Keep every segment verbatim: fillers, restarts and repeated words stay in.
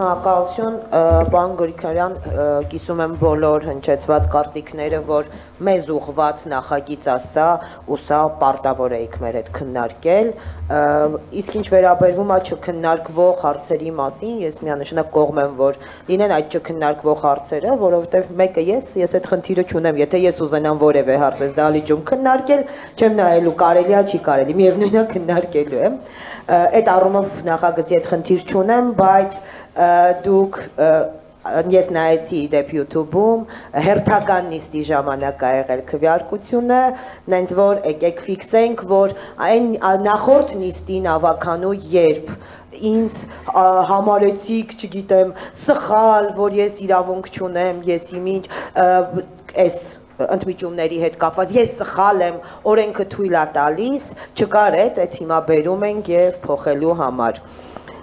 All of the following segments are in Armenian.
Շնորհակալություն, պարոն Գրիգորյան, կիսում եմ բոլոր հնչեցված կարծիքները, որ մեզ ուղղված նախագիծ ասա ու սա պարտավոր էիք մեր հետ քննարկել, իսկ ինչ վերաբերվում է չքննարկվող հարցերի մասին, ես միանշանակ կողմ եմ, որ լինեն այդ չքննարկվող հարցերը, որովհետև մեկը ես, ես այդ խնդիրը չունեմ, եթե ես ուզենամ որևէ հարց ես դահլիճում քննարկել, չեմ նայելու կարելի է, չի կարելի, միևնույնն է քննարկելու եմ, այդ առումով նախագծի այդ խնդիր չունեմ, բայց դուք ես նայեցի դեպ YouTube-ում հերթական նիստի ժամանակ ա եղել քվեարկությունը, նենց որ եկեք ֆիքսենք, որ այն նախորդ նիստին ավականու երբ ինձ համարեցիք, չգիտեմ, սխալ, որ ես իրավունք չունեմ, ես իմիջ այս ընդմիջումների հետ կապված, ես սխալ եմ, օրենքը թույլ է տալիս, չկար այդ, այդ հիմա բերում ենք եւ փոխելու համար։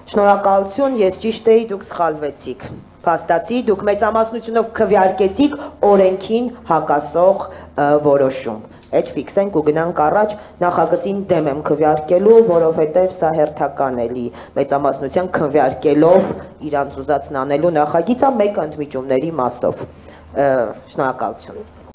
Շնորհակալություն, ես ճիշտ էի, դուք սխալվեցիք։ Փաստացի, դուք մեծամասնությունով քվեարկեցիք օրենքին հակասող որոշում։ Այդ ֆիքսենք ու գնանք առաջ, նախագծին դեմ եմ քվեարկելու, որովհետև սա հերթական էլի մեծամասնության քվեարկելով իրանց ուզածն անելու նախագիծ է մեկ ընդմիջումների մասով։ Շնորհակալություն։